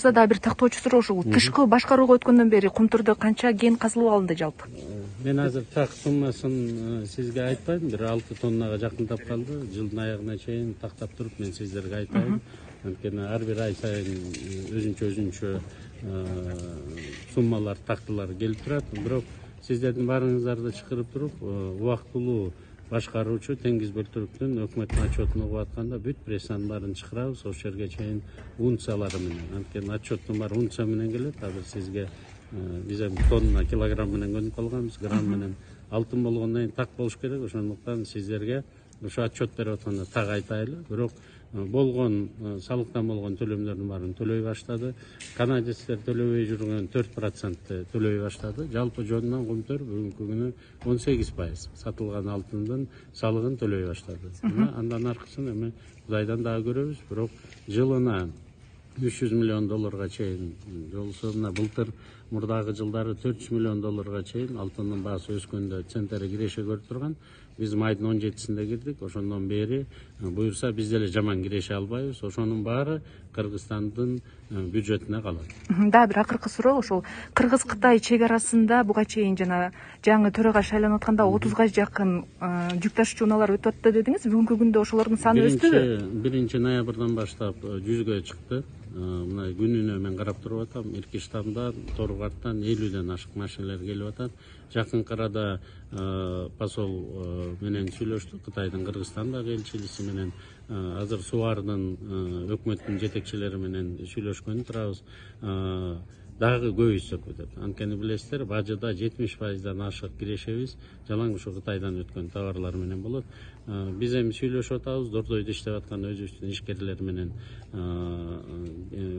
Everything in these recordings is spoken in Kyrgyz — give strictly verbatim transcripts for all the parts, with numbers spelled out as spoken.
Дагы бир тактоочу суроо ушул тышкы башкарууга өткөндөн бери Кумтурда канча кен казылып алынды жалпы? Мен азыр так суммасын сизге айтпайм, бир алты тоннага жакындап калды. Жылдын аягына чейин тактап туруп мен сиздерге айтайын. Анткени ар бир ай сайын өзүнчө өзүнчө суммалар, тактылар келип турат. Бирок сиздердин баарыңыздарды чакырып туруп, убактылуу башкаруучу Теңиз Бөлтүрүктүн өкмөттүн отчетун угуп атканда бүт прессанын баарын чакырабыз, ошол жерге чейин унциялары менен. Анткени отчеттун баары унция менен келет. Азыр сизге биз эми тонна, килограмм менен көнүп калганбыз, грамм менен алтын болгондон кийин так болуш керек. Ошондуктан сиздерге ошо отчет берип атканда так айтайлы. Бирок болгон салыктан болгон төлөмдөрдүн баарын төлөй баштады. Канадецтер төлөбөй жүргөн төрт процентти төлөй баштады. Жалпы жөнүнөн Кумтөр бүгүнкү күнү он сегиз пайыз сатылган алтындын салыгын төлөй баштады. Андан аркысын эми Кудайдан дагы көрөбүз. Бирок жылына үч жүз миллион долларга чейин, жолсо мына былтыр мурдагы жылдары төрт жүз миллион долларга чейин алтындын баасы өскөндө центнери киреше көрүп турган. Биз майдын он жетисинде кирдик. Ошондон бери буюрса биз деле жаман киреше албайбыз. Ошонун баары Кыргызстандын бюджетине калат. Дагы бир акыркы суроо ошол Кыргыз-Кытай чек арасында буга чейин жана жаңы төрага шайланып атканда отузга жакын жүк ташуучу унаалар өтүп атты дедиңиз. Бүгүнкү күндө ошолордун саны өстүбү? биринчи ноябрдан баштап жүзгө чыкты. Мына күнүнө мен карап туруп атам. Иркиштамдан, Торгартан элүүдөн ашык машиналар келип атат. Жакынкы арада посол менен сүйлөштүк, Кытайдын Кыргызстандагы элчилиси менен. Азыр Субардын өкмөттүн жетекчилери менен сүйлөшкөнү турабыз. Дагы көбөйтсөк өтөт. Анткени билесиздер, бажыда жетимиш пайыздан ашык кирешебиз жалаң ушу Кытайдан өткөн товарлар менен болот. Биз эми сүйлөшүп атабыз, Дордойдо иштеп аткан өзүбүздүн ишкерлер менен,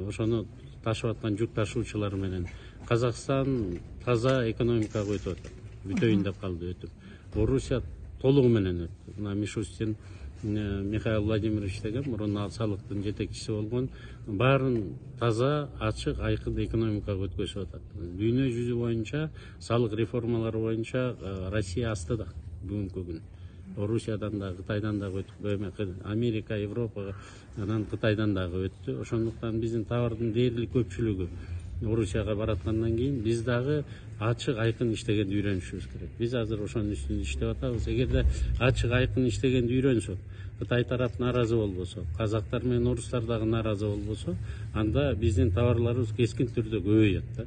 ошону ташып аткан жүк ташуучулар менен. Казакстан таза экономикага өтүп атат. Бүтөйүн деп калды өтүп. Орусия толугу менен өттү. Мына Мишустин Михаил Владимирович деген мурун ал салыктын жетекчиси болгон, баарын таза, ачык, айкын экономикага өткөзүп атат. Дүйнө жүзү боюнча салык реформалары боюнча Россия астыда бүгүнкү күнү. Орусиядан да, Кытайдан дагы өтүп, Америка, Европага, анан Кытайдан дагы өттү. Ошондуктан биздин товардын дээрлик көпчүлүгү Орусияга бараткандан кийин биз дагы ачык, айкын иштегенди үйрөнүшүбүз керек. Биз азыр ошонун үстүндө иштеп атабыз. Эгерде ачык, айкын иштегенди үйрөнсөк, Кытай тарап нааразы болбосо, казактар менен орустар дагы нааразы болбосо, анда биздин товарларыбыз кескин түрдө көбөйөт да.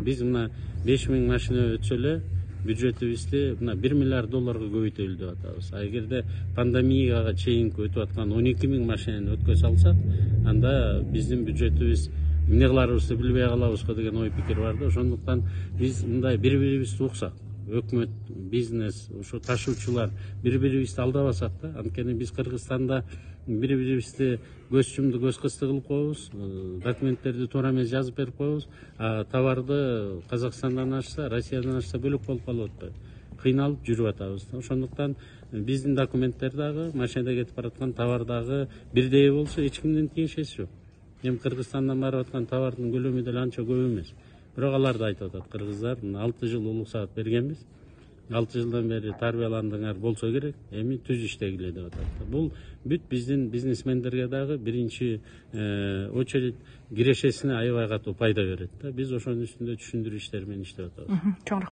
Биз мына беш миң машина өтсө эле бюджетибизди мына бир миллиард долларга көбөйтөлү деп атабыз. А эгерде пандемияга чейинки өтүп аткан он эки миң машинени өткөзө алсак, анда биздин бюджетибиз эмне кыларыбызды билбей калабызго деген ой пикир бар да. Ошондуктан биз мындай бири-бирибизди уксак, өкмөт, бизнес, ошо ташуучулар бири-бирибизди алдабасак да. Анткени биз Кыргызстанда бири-бирибизди көз чумду көз кысты кылып коебуз, документтерди туура эмес жазып берип коебуз, а товарды Казакстандан ашса, Россиядан ашса бөлөк болуп калып атпайбы? Кыйналып жүрүп атабыз. Ошондуктан биздин документтер дагы, машинада кетип бараткан товар дагы бирдей болсо эч кимдин тиешеси жок. Эми Кыргызстандан барып аткан товардын көлөмү деле анча көп эмес. Бирок алар да айтып атат, кыргыздар алты жыл улук саат бергенбиз. алты жылдан бери тарбияландыңар, болсо керек, эми түз иштегиле деп атат. Бул бүт биздин бизнесмендерге дагы биринчи очередь кирешесине аябай катуу пайда берет да. Биз ошонун үстүндө түшүндүрүү иштери менен иштеп атабыз.